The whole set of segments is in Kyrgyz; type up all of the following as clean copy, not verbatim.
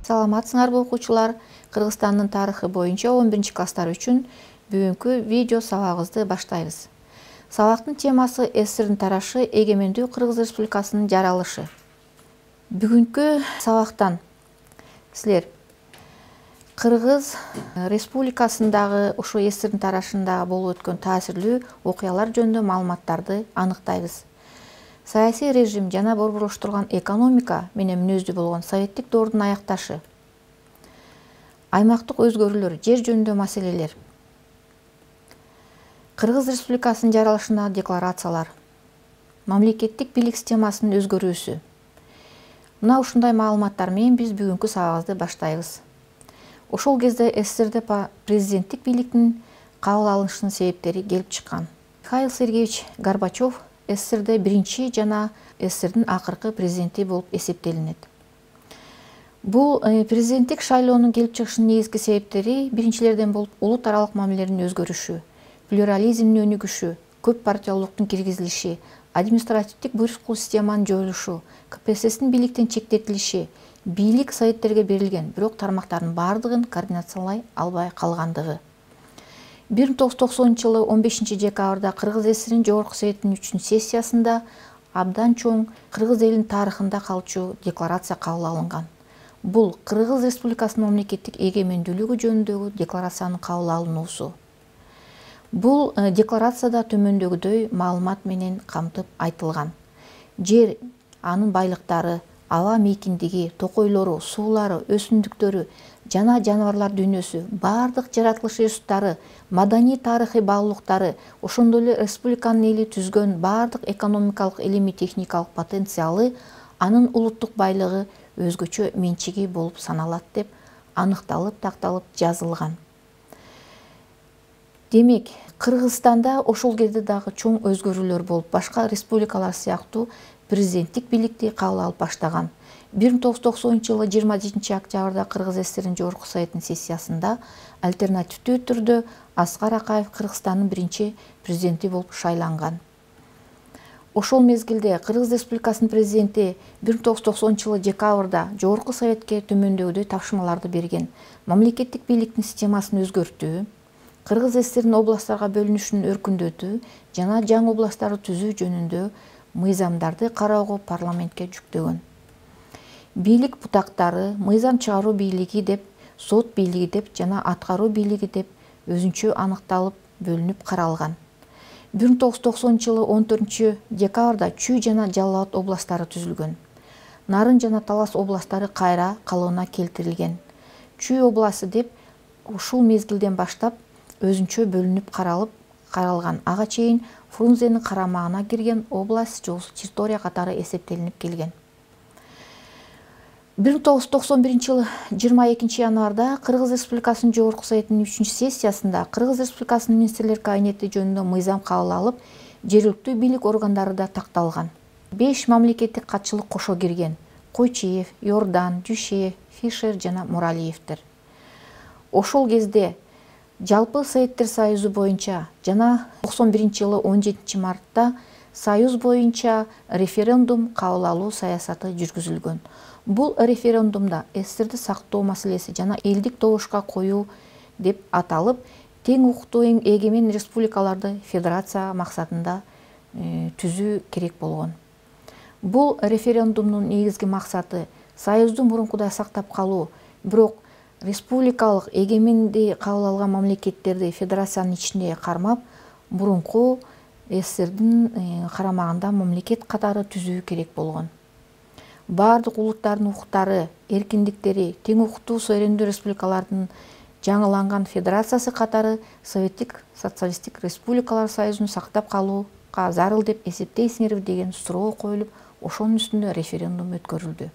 Саламатсыңарбы окуучулар? Кыргызстандын тарыхы боюнча 11-класстар үчүн бүгүнкү видео сабагыбызды баштайбыз. Сабактын темасы СССРдин тарашы, эгемендүү Кыргыз Республикасынын жаралышы. Бүгүнкү сабактан силер Кыргыз Республикасындагы ошо СССРдин тарашында болуп өткөн таасирлүү окуялар жөнүндө маалыматтарды аныктайбыз. Саясий режим жана борборлоштурулган экономика менен мүнөздүү болгон советтик доордун аякташы, аймактык өзгөрүүлөр, жер жөнүндө маселелер, Кыргыз Республикасынын жаралышындагы декларациялар, мамлекеттик бийлик системасынын өзгөрүүсү. Мына ушундай маалыматтар менен биз бүгүнкү сабагыбызды баштайбыз. Ошол кезде СССРде президенттик бийликтин кабыл алынышынын себептери келип чыккан. Михаил Сергеевич Горбачев СССРде биринчи жана СССРдин акыркы президенти болуп эсептелинет. Бул президенттик шайлоонун келип чыгышынын негизги себептери биринчилерден болуп улут аралык мамилелердин өзгөрүшү, плюрализмдин өнүгүшү, көп партиялуулуктун киргизилиши, административдик буйруктуу системанын жоюлушу, КПССдин бийликтен чектетилиши, бийлик советтерге берилген, бирок тармактардын бардыгын координациялай албай калгандыгы. 1990 жылы 15 декабрда Кыргыз СССРинин Жогорку Советинин 3-сессиясында абдан чоң Кыргыз элинин тарыхында калчу декларация кабыл алынган. Бул Кыргыз Республикасынын мамлекеттик эгемендүүлүгү жөнүндөгү декларациянын кабыл алынуусу. Бул декларацияда төмөндөгүдөй маалымат менен камтып айтылган. Жер, анын байлыктары, аба мейкиндиги, токойлору, суулары, өсүмдүктөрү жана жаныбарлар дүйнөсү, бардык жаратылыш ресурстары, маданий тарыхый баалуулуктары, ошондой эле республиканын эли түзгөн бардык экономикалык, илимий техникалык потенциалы, анын улуттук байлыгы өзгөчө менчиги болуп саналат деп аныкталып, такталып жазылган. Демек, Кыргызстанда ошол кезде дагы чоң өзгөрүүлөр болуп, башка республикалар сыяктуу президенттик бийликти кабыл алып баштаган. 1990 жылы 27 октябрда Кыргыз СССРинин Жогорку Советинин сессиясында альтернативдүү түрдө Аскар Акаев Кыргызстандын биринчи президенти болуп шайланган. Ошол мезгилде Кыргыз Республикасынын президенти 1990 жылы декабрда Жогорку Советке төмөндөгүдөй тапшырмаларды берген. Мамлекеттик бийликтин системасын өзгөртүү, Кыргыз СССРинин областтарга бөлүнүшүн өркүндөтүү жана жаңы областтарды түзүү жөнүндө мыйзамдарды кароого парламентке жүктөгөн. Бийлик бутактары мыйзам чыгаруу бийлиги деп, сот бийлиги деп жана аткаруу бийлиги деп өзүнчө аныкталып, бөлүнүп каралган. 1990 жылы 14 декабрда Чүй жана Жалал Абад областтары түзүлгөн. Нарын жана Талас областтары кайра калыбына келтирилген. Чүй областы деп ушул мезгилден баштап өзүнчө бөлүнүп каралган. Ага чейин Фрунзенин карамагына кирген область территория катары эсептелинип келген. 1991 жылы 22 январда Кыргыз Республикасынын Жогорку Советинин 3-сессиясында Кыргыз Республикасынын министрлер кабинети жөнүндө мыйзам кабыл алып, жергиликтүү бийлик органдары да такталган. 5 мамлекеттик катчылык кошо кирген: Койчиев, Йордан, Дүйшеев, Фишер жана Муралиевдер. Ошол кезде жалпы Советтер Союзу боюнча жана 91 жылы 17 мартта Союз боюнча референдум кабыл алуу саясаты жүргүзүлгөн. Бул референдумда СССРди сактоо маселеси жана элдик добушка коюу деп аталып, тең укуктуу эгемен республикаларды федерация максатында түзүү керек болгон. Бул референдумдун негизги максаты Союздун мурункудай сактап калуу, бирок республикалык эгеменди кабыл алган мамлекеттерди федерациянын ичинде кармап, мурунку СССРдин карамагында мамлекет катары түзүү керек болгон. Бардык улуттардын укуктары, эркиндиктери тең укуктуу суверендүү республикалардын жаңыланган федерациясы катары Советтик социалисттик республикалар союзун сактап калууга зарыл деп эсептейсиңерби деген суроо коюлуп, ошонун үстүндө референдум өткөрүлдү.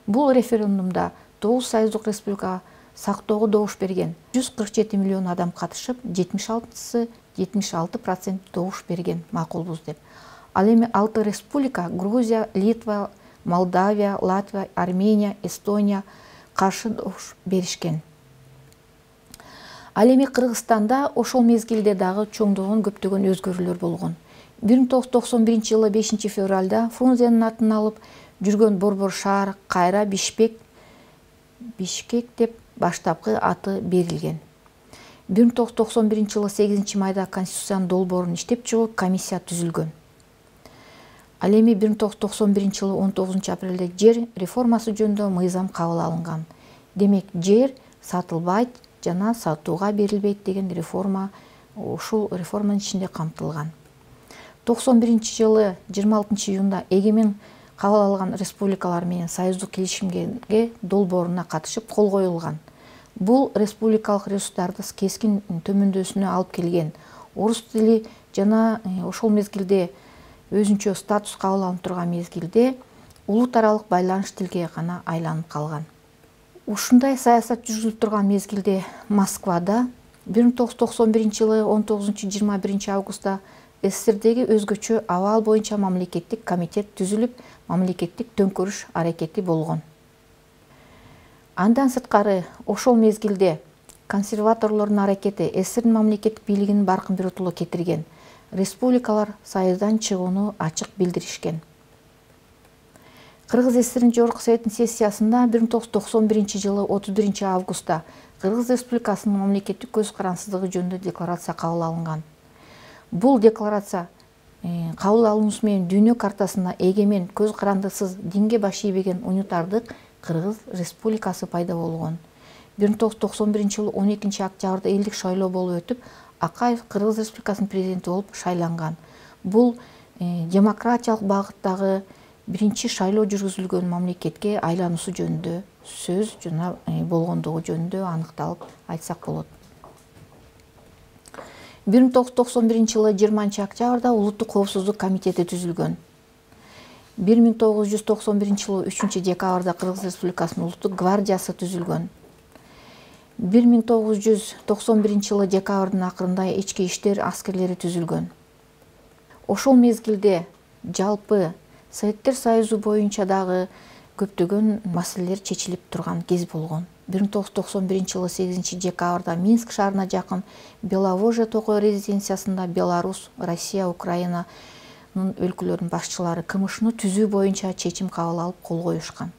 Бул референдумда 9 союздук республика сактоого добуш берген. 147 миллион адам катышып, 76% добуш берген макулбуз деп. Ал эми 6 республика Грузия, Литва, Молдавия, Латвия, Армения, Эстония каршы добуш беришкен. Ал эми Кыргызстанда ошол мезгилде дагы чоңдогон көптөгөн өзгөрүүлөр болгон. 1991 жылы 5 февралда Фрунзенин атын алып жүргөн борбор шаар кайра Бишкек Бишкек деп баштапкы аты берилген. 1991 жылы 8 майда Конституциянын долбоорун иштеп чыгуу комиссия түзүлгөн. Ал эми 1991 жылы 19 апрелде жер реформасы жөнүндө мыйзам кабыл алынган. Демек, жер сатылбайт жана сатууга берилбейт деген реформа ушул реформанын ичинде камтылган. 91 жылы 26 июнда эгемен кабыл алган республикалар менен союздук келишимге долбооруна катышып кол коюлган. Бул республикалык ресурстарды кескин төмөндөсүнө алып келген. Орус тили жана ошол мезгилде өзүнчө статус кабыл алынып турган мезгилде улут аралык байланыш тилге гана айланып калган. Ушундай саясат жүргүзүлүп турган мезгилде Москвада 1991 жылы 19-21 августта СССРдеги өзгөчө абал боюнча мамлекеттик комитет түзүлүп, мамлекеттик төңкөрүш аракети болгон. Андан сырткары ошол мезгилде консерваторлордун аракети СССРдин мамлекеттик бийлигинин баркын биротулук кетирген. Республикалар союздан чыгууну ачык билдиришкен. Кыргыз СССРдин Жогорку Советтин сессиясында 1991 жылы 31 августта Кыргыз Республикасынын мамлекеттик көз карансыздыгы жөнүндө декларация кабыл алынган. Бул декларация кабыл алуусу менен дүйнө картасында эгемен, көз карандысыз, динге баш ийбеген унутардык Кыргыз Республикасы пайда болгон. 1991 жылы 12 октябрда элдик шайлоо болуп өтүп, Акаев Кыргыз Республикасынын президенти болуп шайланган. Бул демократиялык багыттагы биринчи шайлоо жүргүзүлгөн мамлекетке айлануусу жөнүндө сөз жана болгондугу жөнүндө аныкталып айтсак болот. 1991 жылы 20 октябрда Улуттук коопсуздук комитети түзүлгөн. 1991 жылы 3 декабрда Кыргыз Республикасынын Улуттук гвардиясы түзүлгөн. 1991 жылы декабрдын акырында ички иштер аскерлери түзүлгөн. Ошол мезгилде жалпы Советтер Союзу боюнча дагы көптөгөн маселелер чечилип турган кез болгон. 1991 жылы 8 декабрда Минск шаарына жакын Беловожье токой резиденциясында Беларусь, Россия, Украинанын өлкөлөрүнүн башчылары КМШны түзүү боюнча чечим кабыл алып кол коюшкан.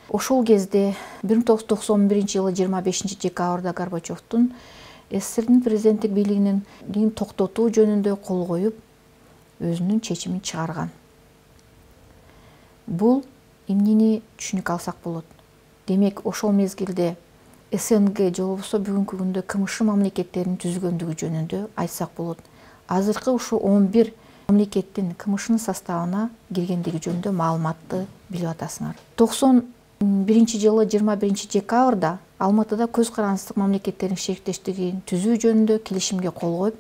Ошол кезде 1991 жылы 25 декабрда Горбачевдун СССРдин президенттик бийлигинин токтотуу жөнүндө кол коюп, өзүнүн чечимин чыгарган. Бул эмнени түшүнүк алсак болот? Демек, ошол мезгилде СНГ же болбосо бүгүнкү күндө КМШ мамлекеттеринин түзүлгөндүгү жөнүндө айтсак болот. Азыркы ушу 11 мамлекеттин КМШнын составына киргендиги жөнүндө маалыматты билип атасыңар. 91 жылы 21 декабрда Алматыда көз карансыздык мамлекеттеринин шериктештигин түзүү жөнүндө келишимге кол коюп,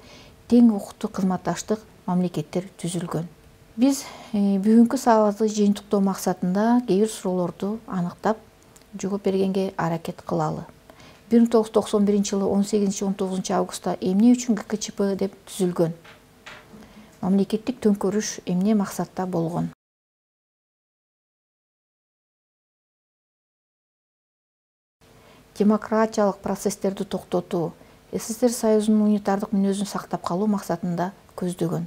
тең укуктуу кызматташтык мамлекеттер түзүлгөн. Биз бүгүнкү сабакты жыйынтыктоо максатында кээ бир суроолорду аныктап жооп бергенге аракет кылалы. 1991 жылы 18-19 августта эмне үчүн ГКЧП деп түзүлгөн? Мамлекеттик төңкөрүш эмне максатта болгон? Демократиялык процесстерди токтотуу, СССР Союзунун унитардык мүнөзүн сактап калуу максатында көздөгөн.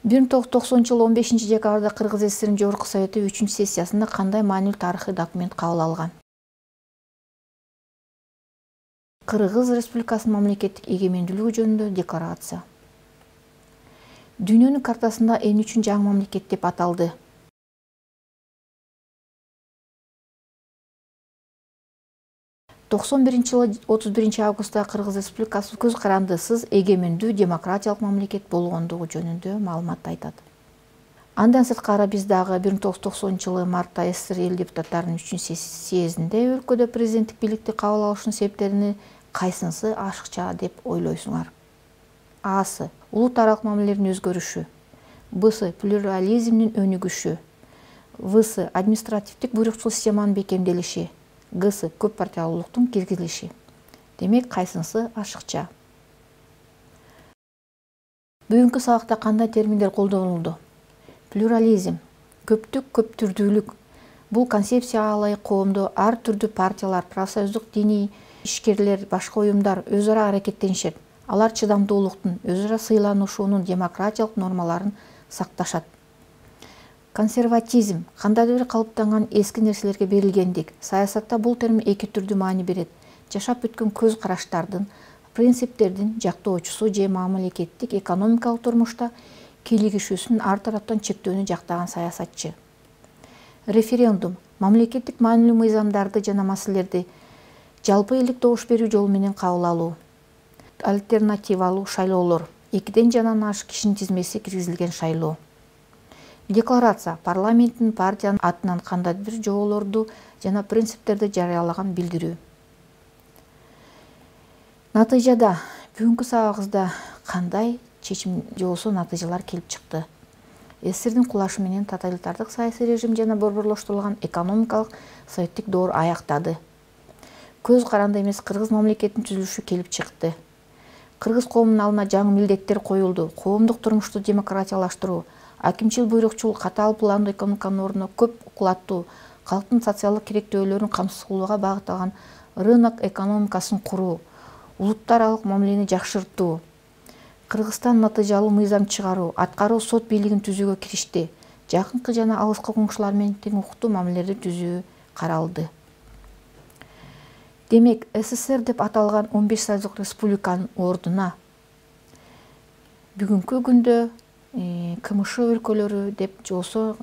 1990 жылы 15 декабрда Кыргыз СССРдин Жогорку Совети 3 сессиясында кандай маанилүү тарыхый документ кабыл алган? Кыргыз Республикасынын мамлекеттик эгемендүүлүгү жөнүндө декларация. Дүйнөнүн картасында эмне үчүн жаңы мамлекет деп аталды? жылы 31 августта Кыргыз Республикасы көз карандысыз эгемендүү демократиялык мамлекет болгондугу жөнүндө маалымат айтат. Андан сырткары биз дагы 1990 жылы мартта СССР эл депутаттарынын 3 съездинде өлкөдө президенттик бийликти кабыл алышынын себептерини кайсынысы ашыкча деп ойлойсуңар? А-сы улут аралык мамилелердин өзгөрүшү, Б-сы плюрализмдин өнүгүшү, В-сы административдик буйрукчул системанын бекемделиши, Г-сы көп партиялуулуктун киргизилиши. Демек, кайсынысы ашыкча? Бүгүнкү сабакта кандай терминдер колдонулду? Плюрализм, көптүк, көп түрдүүлүк. Бул концепция ылайык коомдо ар түрдүү партиялар, профсоюздук диний ишкерлер, башка уюмдар өз ара аракеттенишет. Алар чыдамдуулуктун, өз ара сыйланышуунун демократиялык нормаларын сакташат. Консерватизм кандайдыр бир калыптанган эски нерселерге берилгендик. Саясатта бул термин эки түрдүү маани берет. Жашап өткөн көз караштардын, принциптердин жактоочусу же мамлекеттик экономикалык турмушта кийлигишүүсүн ар тараптан чектөөнү жактаган саясатчы. Референдум мамлекеттик маанилүү мыйзамдарды жана маселелерди жалпы элдик добуш берүү жолу менен кабыл алуу. Альтернативалуу шайлоолор 2ден жанан ашык кишинин тизмеси киргизилген шайлоо. Декларация парламенттин партиянын атынан кандайдыр бир жоболорду жана принциптерди жарыялаган билдирүү. Натыйжада бүгүнкү сабагыбызда кандай чечим же болбосо натыйжалар келип чыкты? СССРдин кулашы менен тоталитардык саясий режим жана борборлоштурулган экономикалык советтик доор аяктады. Көз каранды эмес кыргыз мамлекетинин түзүлүшү келип чыкты. Кыргыз коомунун алдына жаңы милдеттер коюлду. Коомдук турмушту демократиялаштыруу, акимчил буйрукчул катаал пландуу экономиканын ордуна көп кулаттуу, калктын социалдык керектөөлөрүн камсыз кылууга багытталган рынок экономикасын куруу, улуттар аралык мамилени жакшыртуу, Кыргызстан натыйжалуу мыйзам чыгаруу, аткаруу сот бийлигин түзүүгө киришти. Жакынкы жана алыскы коңшулар менен тең укуктуу мамилелерди түзүү каралды. Демек, СССР деп аталган 15 союздук республиканын ордуна бүгүнкү күндө КМШ өлкөлөрү деп же болбосо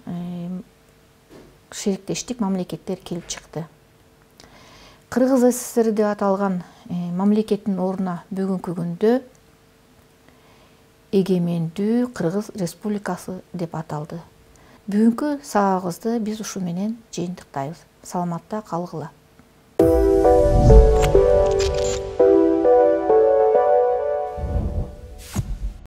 шериктештик мамлекеттер келип чыкты. Кыргыз СССР деп аталган мамлекеттин ордуна бүгүнкү күндө эгемендүү Кыргыз Республикасы деп аталды. Бүгүнкү сабагыбызды биз ушу менен жыйынтыктайбыз. Саламатта калгыла.